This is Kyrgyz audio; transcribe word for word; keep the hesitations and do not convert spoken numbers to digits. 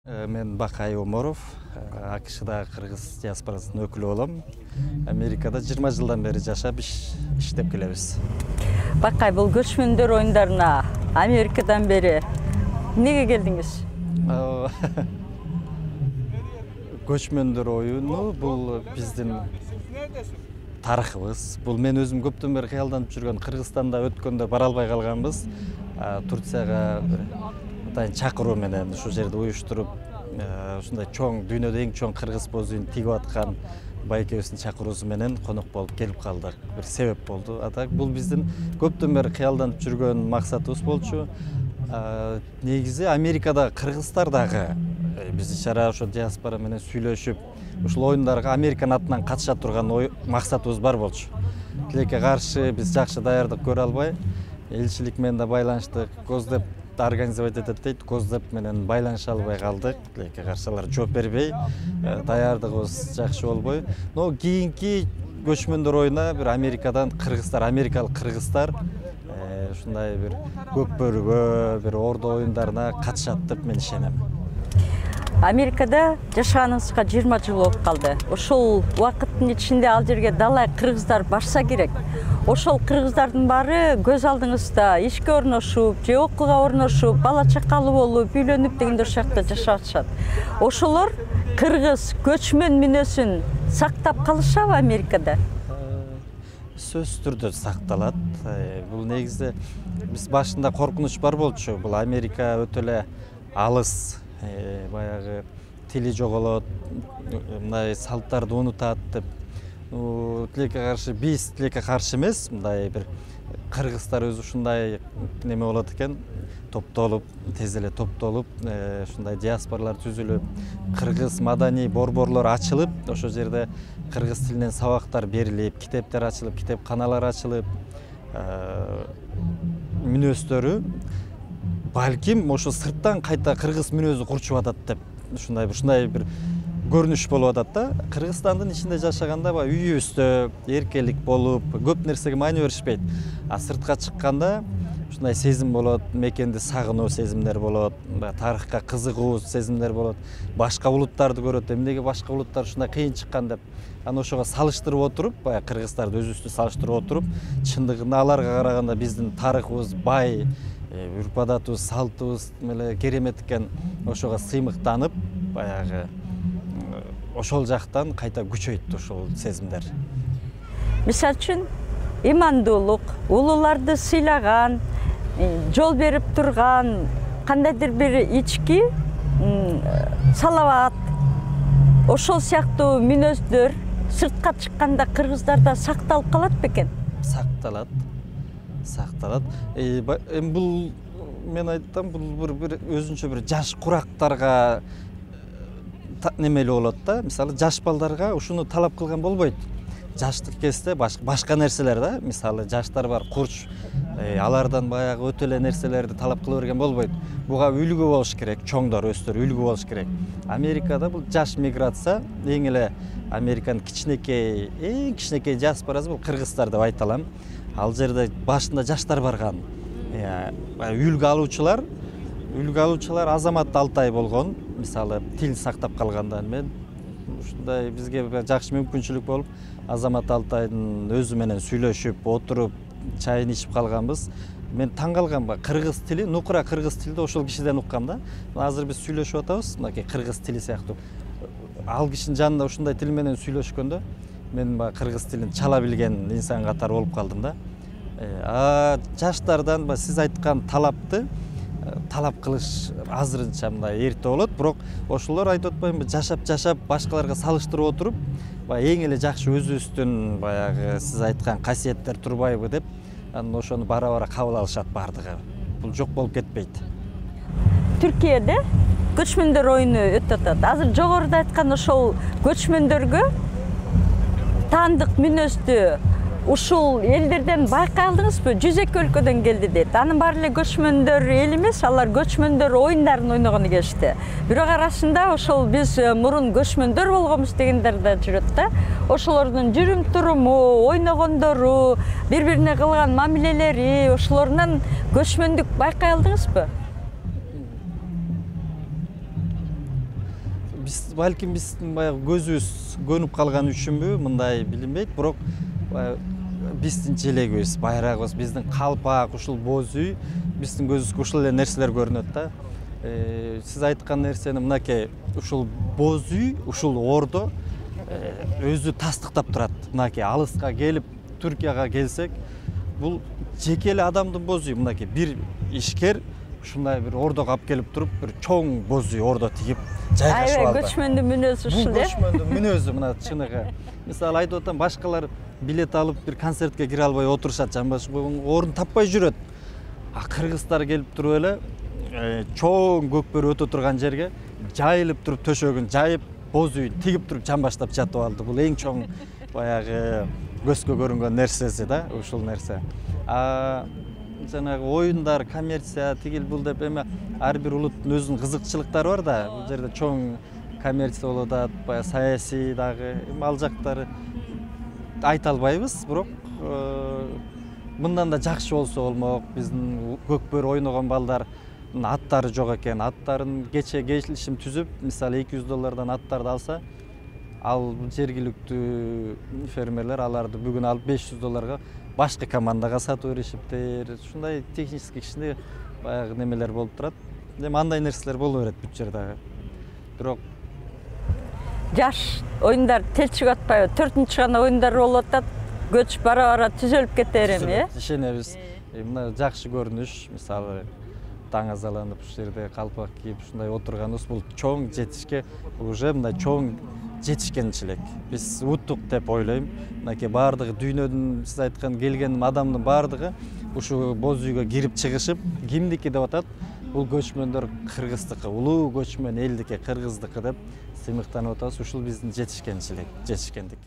Мен Бакай Оморов, АКШда кыргыз диаспорасынын өкүлү болом. Америкада жыйырма жылдан бери жашап иштеп келебиз. Бакай, бул көчмөндөр оюндарына Америкадан бери эмнеге келдиңиз? Көчмөндөр оюну бул биздин тарыхыбыз. Бул мен өзүм көптөн бери кыялданып жүргөн, Кыргызстанда өткөндө бара албай калганбыз. Турцияга атайын чакыруу менен ушул жерде уюштуруп, ушундай чоң, дүйнөдө эң чоң кыргыз боз үйүн тигип аткан байкебиздин чакыруусу менен конок болуп келип калдык. Бир себеп болду. А так бул биздин көптөн бери кыялданып жүргөн максатыбыз болчу. Негизи Америкада кыргыздар дагы биз ичара ошо диаспора менен сүйлөшүп, ушул оюндарга Американын атынан катыша турган максатыбыз бар болчу. Тилекке каршы биз жакшы даярдык көрө албай, элчилик менен да байланыштык, Госдеп организовать этет дейт, Госдеп менен байланыша албай калдык. Тилекке каршы алар жооп бербей, даярдыгыбыз жакшы болбой. Но кийинки көчмөндөр оюна бир Америкадан кыргыздар, америкалык кыргыздар ушундай бир көкбөрүгө, бир ордо оюндарына катышат деп мен ишенем. Америкада жашаганыңызга жыйырма жыл болуп калды. Ошол убакыттын ичинде ал жерге далай кыргыздар барса керек. Ошол кыргыздардын баары көз алдыңызда ишке орношуп, же окууга орношуп, бала чакалуу болуп, үйлөнүп дегендей шакта жашап атышат. Ошолор кыргыз көчмөн мүнөзүн сактап калышабы Америкада? Сөзсүз түрдө сакталат. Бул негизде биз башында коркунуч бар болчу. Бул Америка өтө эле алыс, баягы тили жоголот, мындай салттарды унутат деп. Тилекке каршы биз тилекке каршы эмес, мындай бир кыргыздар өзү ушундай неме болот экен, топтолуп, тез эле топтолуп, ушундай диаспоралар түзүлүп, кыргыз маданий борборлор ачылып, ошол жерде кыргыз тилинен сабактар берилип, китептер ачылып, китепканалар ачылып, мүнөздөрү балким ошо сырттан кайта кыргыз мүнөзү курчуп атат деп, ушундай ушундай бир көрүнүш болуп атат да. Кыргызстандын ичинде жашаганда баягы үйүбүздө эркелик болуп, көп нерсеге маани беришпейт. А сыртка чыкканда ушундай сезим болот, мекенди сагынуу сезимдер болот, тарыхка кызыгуу сезимдер болот. Башка улуттарды көрөт, эмнеге башка улуттар ушундай кыйын чыккан деп. Аны ошого салыштырып отуруп, баягы кыргыздарды өзүбүздү салыштырып отуруп, чындыгында аларга караганда биздин тарыхыбыз бай, үрп адатыбыз, салтыбыз эле керемет экен. Ошого сыймыктанып, баягы ошол жактан кайта күчөйт ошол сезимдер. Мисалы үчүн, имандуулук, улууларды сыйлаган, жол берип турган, кандайдыр бир ички, салават, ошол сыяктуу мүнөздөр сыртка чыкканда кыргыздарда сакталып калат бекен? Сакталат. Сакталат. Эми бул мен айтсам, бул бир өзүнчө бир жаш курактарга немели болот да. Мисалы, жаш балдарга ушуну талап кылган болбойт. Жаштык кезде башка нерселер да. Мисалы, жаштар бар, курч, алардан баягы өтө эле нерселерди талап кыла берген болбойт. Буга үлгү болуш керек, чоңдор, өстөр үлгү болуш керек. Америкада бул жаш миграция, эң эле Американын кичинекей, эң кичинекей диаспорасы бул кыргыздар деп айта алам. Ал жерде башында жаштар барган. Үлгү алуучулар, үлгү алуучулар Азамат Алтай болгон. Мисалы, тил сактап калгандан мен ушундай бизге жакшы мүмкүнчүлүк болуп, Азамат Алтайдын өзү менен сүйлөшүп, отуруп, чайын ичип калганбыз. Мен таң калгам, кыргыз тили, нукура кыргыз тилди ошол кишиден уккам да. Азыр биз сүйлөшүп атабыз, мынакей кыргыз тили сыяктуу. Ал кишинин жанында ушундай тил менен сүйлөшкөндө мен кыргыз тилин чала билген инсан катары болуп калдым да. А жаштардан сиз айткан талапты талап кылыш азырынча мындай эрте болот, бирок ошолор айтып атпаймынбы, жашап-жашап башкаларга салыштырып отуруп, баягы эң эле жакшы өзүбүздүн баягы сиз айткан касиеттер турбайбы деп, анан ошону бара-бара кабыл алышат бардыгы. Бул жок болуп кетпейт. Түркияда көчмөндөр оюну өтүп атат. Азыр жогоруда айткан ошол көчмөндөргө таандык мүнөздү ушул элдерден байкай алдыңызбы? жүз эки өлкөдөн келди дейт. Анын баары эле көчмөндөр эл эмес, алар көчмөндөр оюндарын ойногону келишти. Бирок арасында ошол биз мурун көчмөндөр болгонбуз дегендер да жүрөт да. Ошолордун жүрүм туруму, ойногондору, бири-бирине кылган мамилелери, ошолорунан көчмөндүк байкай алдыңызбы? биз балким биздин баягы көзүбүз көнүп калган үчүнбү мындай билинбейт, бирок биздин желегибиз, байрагыбыз, биздин калпак, ушул боз үй биздин көзүбүзгө ушул эле нерселер көрүнөт да. Сиз айткан нерсени мынакей ушул боз үй, ушул ордо өзү тастыктап турат. Мынакей алыска келип, Түркияга келсек, бул жеке эле адамдын боз үйү. Мынакей бир ишкер ушундай бир ордого алып келип туруп, бир чоң боз үй ордо тигип жайгашып алды. Аябай көчмөндүн мүнөзү ушул э? Бул көчмөндүн мүнөзү мына чыныгы. Мисалы айтып атам, башкалар билет алып бир концертке кире албай отурушат, жамбаш орун таппай жүрөт. А кыргыздар келип туруп эле чоң көкбөрү өтө турган жерге жайылып туруп төшөгүн жайып, боз үйүн тигип туруп жамбаштап жатып алды. Бул эң чоң баягы көзгө көрүнгөн нерсеси да, ушул нерсе. А жанагы оюндар, коммерция, тигил бул деп эме ар бир улуттун өзүнүн кызыкчылыктары бар да. Бул жерде чоң коммерция болуп атат, баягы саясий дагы, ал жактары айта албайбыз, бирок мындан да жакшы болсо болмок. Биздин көкбөрү ойногон балдардын аттары жок экен. Аттарын кече келишим түзүп, мисалы эки жүз доллардан аттарды алса, ал жергиликтүү фермерлер аларды бүгүн алып беш жүз долларга башка командага сатып беришиптир. Ушундай технический кичине баягы немелер болуп турат. Эми андай нерселер боло берет бүт жерде. Бирок жаш оюндар телчип атпайбы? Төртүнчү гана оюндар болуп атат. Көч бара-бара түзөлүп кетер эми, э? Ишенебиз. Мына жакшы көрүнүш, мисалы таң азаланып ушул жерде калпак кийип ушундай отурганыбыз бул чоң жетишке, уже мындай чоң жетишкенчилик. Биз уттук деп ойлойм. Мынакей баардыгы дүйнөдүн, сиз айткан келген адамдын баардыгы ушу боз үйгө кирип чыгышып, кимдики деп атат? Бул көчмөндөр кыргыздыкы, улуу көчмөн элдики, кыргыздыкы деп сыймыктанып атабыз. Ушул биздин жетишкенчилик, жетишкендик.